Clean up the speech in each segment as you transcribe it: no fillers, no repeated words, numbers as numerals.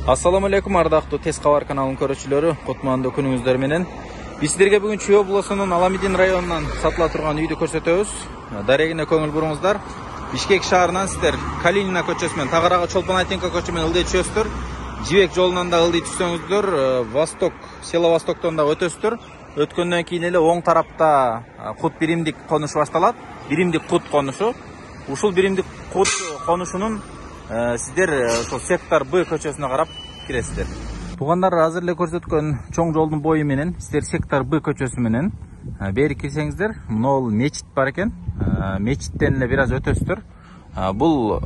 Ассаламу алейкум, ардактуу Тез кабар каналынын көрүүчүлөрү, кутмандуу күнүңүздөр менен. Биз сиздерге бүгүн Чүй облусунун Аламедин районунан сатыла турган үйдү көрсөтөбүз. Дарегине көңүл буруңуздар. Бишкек шаарынан сиздер Калинина көчөсү менен Тагырага Чолпон Айтенко көчө менен ылдый түшөсүздөр. Жибек жолунан да ылдый түшсөңүздөр, Восток, село Востоктон да өтөсүздөр. Өткөндөн кийин эле оң тарапта Кут биримдик конушу башталат. Биримдик Кут конушу. Ушул биримдик Кут конушунун сиздер ошол сектор Б көчөсүнө карап киресиздер. Туугандар, азыр эле көрсөткөн чоң жолдун бою менен сиздер сектор Б көчөсү менен бери кирсеңиздер, могул мечит бар экен. Мечиттен эле бир аз өтөсүздөр. Бул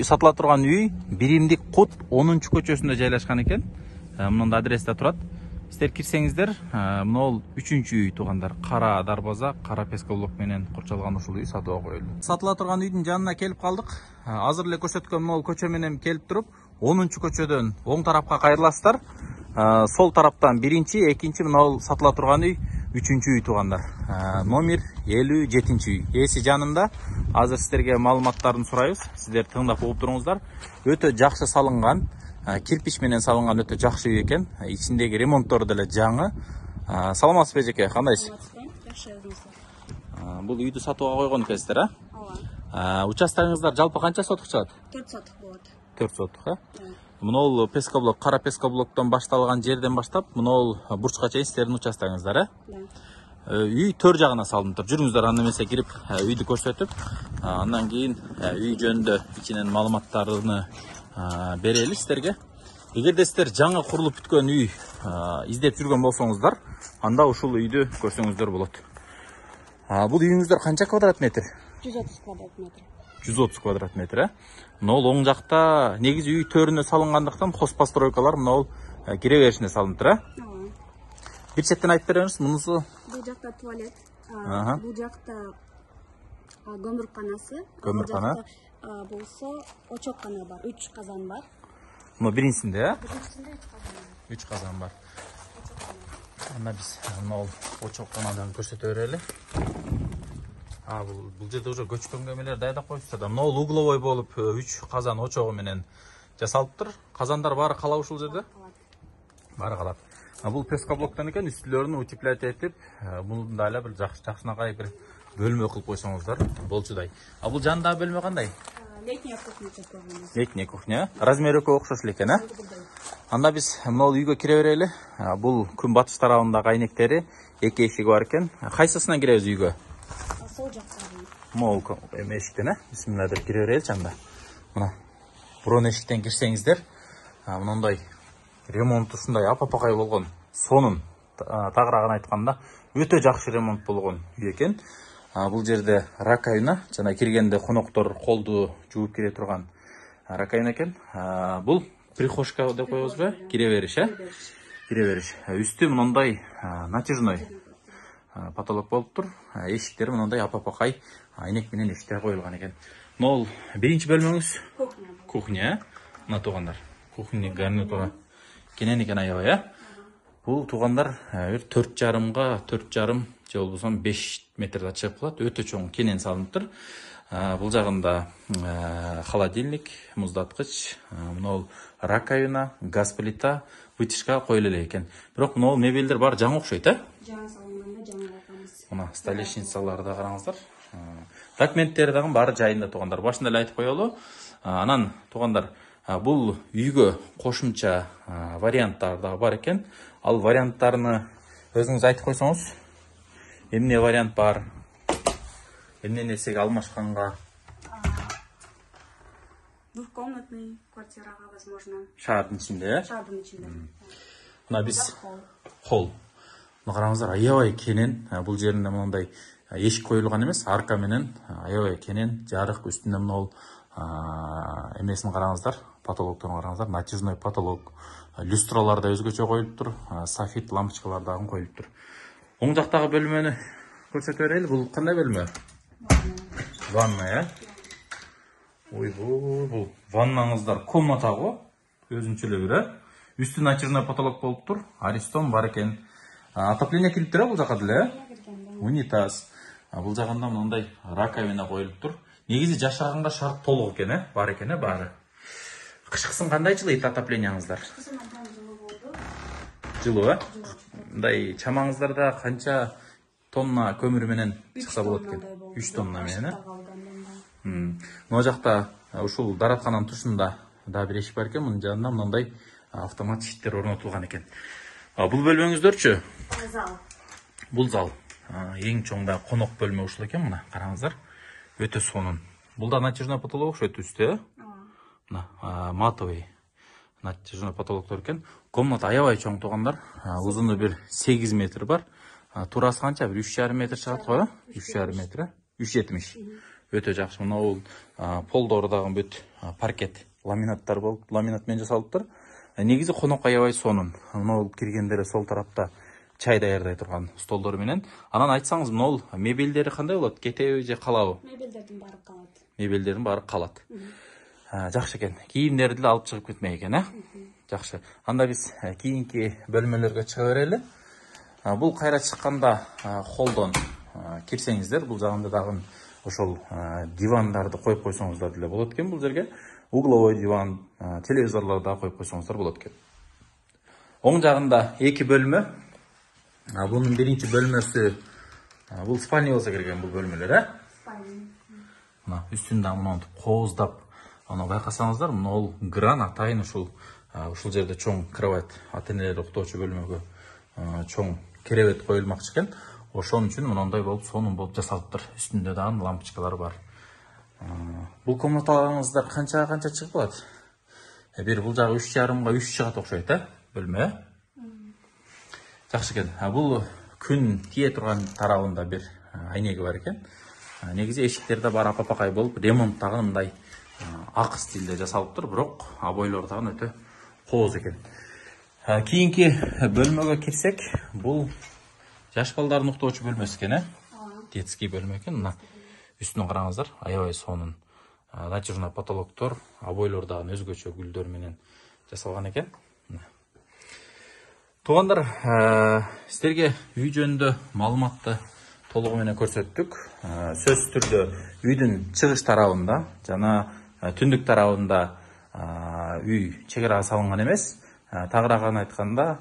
сатыла турган үй биримдик Кут 10-көчөсүндө жайлашкан экен. Мында адресте турат. Сиздер кирсеңиздер, могул 3-үй туугандар. Кара дарбаза, кара пескоблок менен курчалган ушул үй сатууга коюлду. Сатыла турган үйдүн жанына келип калдык. Азыр эле көрсөткөн могул көчө менен келип туруп, 10-көчөдөн оң тарапка кайрыласыздар. Сол тараптан 1-чи, 2-чи могул сатыла турган үй 3-үй туугандар. Номер 57-үй. Эси жанында. Азыр сиздерге маалыматтарын сурайбыз. Сиздер тыңдап угуп туруңуздар. Өтө жакшы салынган, кирпич менен салынган өтө жакшы үй экен. Ичиндеги ремонттору деле жаңы. Саламатсызбы эжеке, кандайсыз? Жакшы. Бул үйдү сатууга койгон экенсиздер, а? Участогуңуздар жалпы канча сотук чыгат? 4 сотук болот. 4 сотук, а? Мынол пескоблок, кара пескоблоктон башталган жерден баштап, мынол бурчка чейин сиздердин участогуңуздар, а? Үй төр жагына салынып. Жүрүңүздөр, анда эмесе кирип үйдү көрсөтүп, андан кийин үй жөнүндө ичинен маалыматтарын берели сиздерге. Эгерде сиздер жаңы курулуп бүткөн үй издеп жүргөн болсоңуздар, анда ушул үйдү көрсөңүздөр болот. Бул үйүңүздөр канча квадрат метр? 130 квадрат метр. 130 квадрат метр, а? Мынол оң жакта негизи үй төрүнө салынгандыктан хозпостройкалар мынол кире беришине салыныптыр, а? Бир четтен айтып береңиз, мунусу? Бул жакта туалет, бул жакта көмүрканасы. Көмүркана. Болсо очоккана бар, 3 казан бар. Мына биринчисинде, а? Биринчисинде 3 казан бар. Анда биз мынол очокканадан көрсөтө берели. Бул жерде уже көчкөнгө эмелер даярдап коюпсуздар да. Мынол угловой болуп 3 казан очогу менен жасалыптыр. Казандар баары калап ушул жерде? Баары калат. Бул пескоблоктон экен, үстүлөрүн утеплять этип, мында эле бир жакшынакай бир бөлмө кылып койсоңуздар болчудай. Бул жандагы бөлмө кандай? Летняя кухня көргөнбүз. Летняя кухня. Размери экөө окшош эле экен, а? Анда биз мынол үйгө кире берели. Бул күн батыш тарабындагы айнектери, 2 эшиги бар экен. Кайсысынан киребиз үйгө? Сол жактан. Могул эшиктен, а? Бисмилла деп кире береличи анда. Мына бурун эшиктен кирсеңиздер, мындай ремонт ушундай апапакай болгон. Сонун тагыраагын айтканда өтө жакшы ремонт болгон үй экен. Бул жерде раковина, жана киргенде коноктор колду жууп кире турган раковина экен. Бул прихожка деп коебузбу? Кире бериш, а? Кире бериш. Үстү мындай натяжной потолок болуптур. Эшиктери мындай апапакай айнек менен эшиктер коюлган экен. Могул биринчи бөлмөңүз? Кухня. Мына туугандар, кухня гарнитура кенен экен аябай, а? Бул туугандар 4,5 же болбосо 5 метрде чыгып калат. Өтө чоң кенен салыныптыр. Бул жагында холодильник, муздаткыч, мынол раковина, газ плита, вытяжка коюлу эле экен. Бирок мынол мебелдер бар жаңы окшойт, а? Жаңы салынганда жаңы айтабыз. Мына столешницаларды караңыздар. Документтери дагы баары жайында туугандар. Башында эле айтып коелу. Анан туугандар, бул үйгө кошумча варианттар дагы бар экен. Ал варианттарны өзүңүз айтып койсоңуз, эмне вариант бар? Эмне нерсеге алмашканга? Двухкомнатный квартирага, возможно. Шаардын ичинде, Шаардын ичинде. Мына биз холл. Мына караңыздар, аябай кенен. Бул жеринде мындай эшик коюлган эмес, арка менен аябай кенен, жарык, үстүндө мынол эмесин караңыздар, потолокторун караңыздар, натяжной потолок. Люстралар да өзгөчө коюлуптур, софит лампочкалар дагы коюлуптур. Оң жактагы бөлмөнү көрсөтө берели. Бул кандай бөлмө? Ванная. Бул ваннаңыздар комната го, өзүнчө эле бир, а? Үстү натяжной потолок болуптур, аристон бар экен. Отопление кириптир, бул жака деле? Унитаз. Бул жагында мындай раковина коюлуптур. Негизи жашаганга шарт толук экен, бар экен, баары. Кышкысын кандай жылыйт отоплениеңиздар? Кызым абдан жылуу болду. Жылуу, мындай чамаңыздарда канча тонна көмүр менен чыкса болот экен? 3 тонна менен. Могу жакта ушул дараткананын тушунда да бир эшик бар экен. Мунун жанында мындай автомат ишиктер орнотулган экен. Бул бөлмөңүздөрчү? Зал. Бул зал. Эң чоң да конок бөлмө ушул экен. Мына караңыздар. Өтө сонун. Бул да натяжной потолок окшойт үстү, мына матовый натяжной потолоктор экен. Комната аябай чоң туугандар. Узуну бир 8 метр бар. Турасы канча? Бир 3,5 метр чыгат го, 3,5 метр, 3,70. Өтө жакшы. Мына бул полдору дагы бүт паркет ламинаттар болуп, ламинат менен жасалыптыр. Негизи конок аябай сонун. Мына бул киргендер сол тарапта чай даярдай турган столдор менен. Анан айтсаңыз, мына мебелдери кандай болот? Кетеби же калабы? Мебелдердин баары калат. Мебелдердин баары калат. Жакшы экен. Кийимдерди эле алып чыгып кетмек экен, Жакшы. Анда биз кийинки бөлмөлөргө чыга берели. Бул кайра чыкканда холдон кирсеңиздер, бул жагында дагы ошол дивандарды коюп койсоңуздар деле болот экен бул жерге. Угловой диван, телевизорлорду да коюп койсоңуздар болот экен. Оң жагында 2 бөлмө. Бунун биринчи бөлмөсү бул спальня болсо керек бул бөлмөлөр, Мына үстүндө монтип кооздап, аны байкасаңыздар, мына ол гран атайын ушул жерде чоң кровать, ата-энелер уктоочу бөлмөгө чоң керебет коюлмакчы экен. Ошон үчүн мындай болуп сонун болуп жасалыптыр. Үстүндө дагы лампочкалар бар. Бул комнаталарыңыздар канча чыгып калат? Бир бул жагы 3,5 3 чыгат окшойт, бөлмө. Жакшы экен. Бул күн тие турган тарабында бир айнеги бар экен. Негизи эшиктерде бар апапакай болуп, ремонт дагы мындай ак стилде жасалыптыр, бирок обойлор дагы өтө кооз экен. Кийинки бөлмөгө кирсек, бул жаш балдардын уктоочу бөлмөсү экен, Детский бөлмө экен. Мына үстүнө караңыздар, аябай сонун. Натяжной потолоктор, обойлор дагы өзгөчө гүлдөр менен жасалган экен. Туугандар, силерге үй жөнүндө маалыматты толугу менен көрсөттүк. Сөзсүз түрдө үйдүн чыгыш тарабында жана түндүк тарабында үй чегара салынган эмес. Тагырааган айтканда,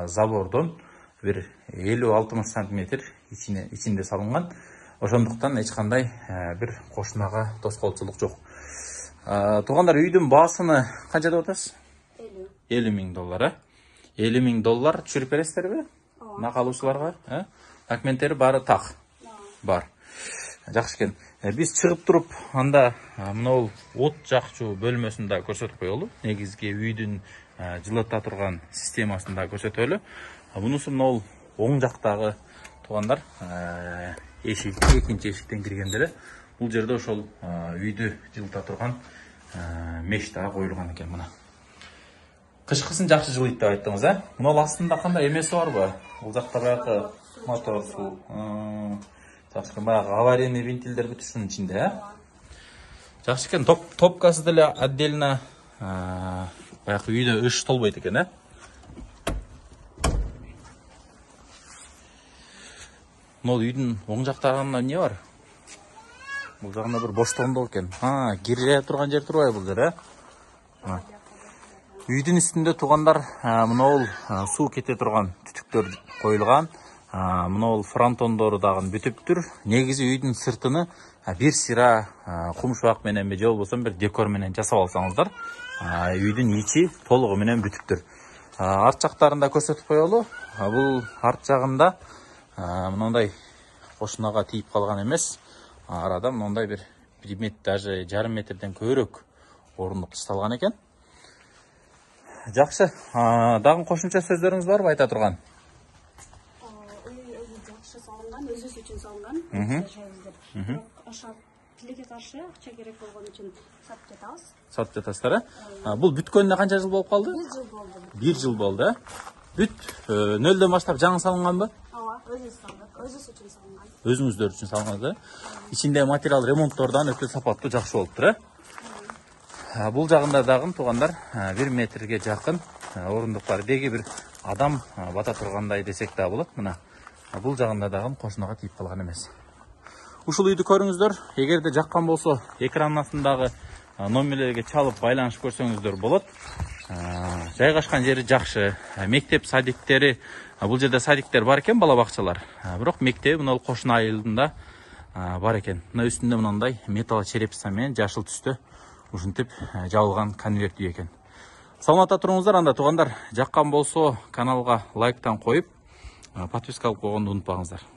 забордон бир 50-60 сантиметр ичинде салынган. Ошондуктан эч кандай бир кошунага тоскоолчулук жок. Туугандар, үйдүн баасыны канча деп атасыз? $50,000, 50,000 доллар түшүрүп бересиздерби? Нак алуучуларга, документтери баары так бар. Жакшы экен. Биз чыгып туруп, анда мына от жакчуу бөлмөсүн да көрсөтүп коелу. Негизги үйдүн жылыта турган системасын да көрсөтөлү. Мунусу мына оң жактагы туугандар, эшик, экинчи эшиктен киргендери. Бул жерде ошол үйдү жылыта турган меш да коюлган экен мына. Кышкысын жакшы жылыйт деп айттыңыз, Мына астында кандай эмеси барбы? Бул жакта баягы мотор суу. Жакшы экен, баягы аварийный вентилдер бүт ушунун ичинде, Жакшы экен, топкасы деле отдельно баягы үйдө ыш толбойт экен, Мына үйдүн оң жактагында эмне бар? Бул жагында бир боштогондок экен. Кире турган жер турбайбы бул жер, Үйдүн үстүндө туугандар, мына суу кете турган түтүктөр коюлган. Мына фронтондору дагы бүтүптүр. Негизи үйдүн сыртыны бир сыра кумшубак мененби же болбосо бир декор менен жасап алсаңыздар, үйдүн ичи толугу менен бүтүптүр. Арт жактарында көрсөтүп коелу. Бул арт жагында мындай кошунага тийип калган эмес. Арада мындай бир метр, даже жарым метрден көбүрөөк орундук ташталган экен. Жакшы. Дагы кошумча сөздөрүңүз барбы айта турган? Үй өзү жакшы салынган, өзүбүз үчүн салынган. Ошо тилекке каршы акча керек болгон үчүн сатып жатабыз. Сатып жатасыздар, Бул бүткөнүнө канча жыл болуп калды? 1 жыл болду. 1 жыл болду, Бүт нөлдөн баштап жаңы салынганбы? Өзүбүз салдык, өзүбүз үчүн салынган. Өзүңүздөр үчүн салынган, Ичинде материал ремонттордон өтө сапаттуу, жакшы болуптур, Бул жагында дагы туугандар 1 метрге жакын орундук бар. Деги бир адам бата тургандай десек да болот. Мына бул жагында дагы кошунага тийип калган эмес. Ушул үйдү көрүңүздөр. Эгерде жаккан болсо, экранын астындагы номерлерге чалып байланышып көрсөңүздөр болот. Жайгашкан жери жакшы. Мектеп садиктери, бул жерде садиктер бар экен, бала бакчалар. Бирок мектеп мына кошуна айылында бар экен. Мына үстүндө мындай металл черепица менен жашыл түстө ушинтип жабылган конверт үй экен. Саламатта туруңуздар, анда туугандар. Жаккан болсо каналга лайктан коюп, подписка кылып койгонду унутпаңыздар.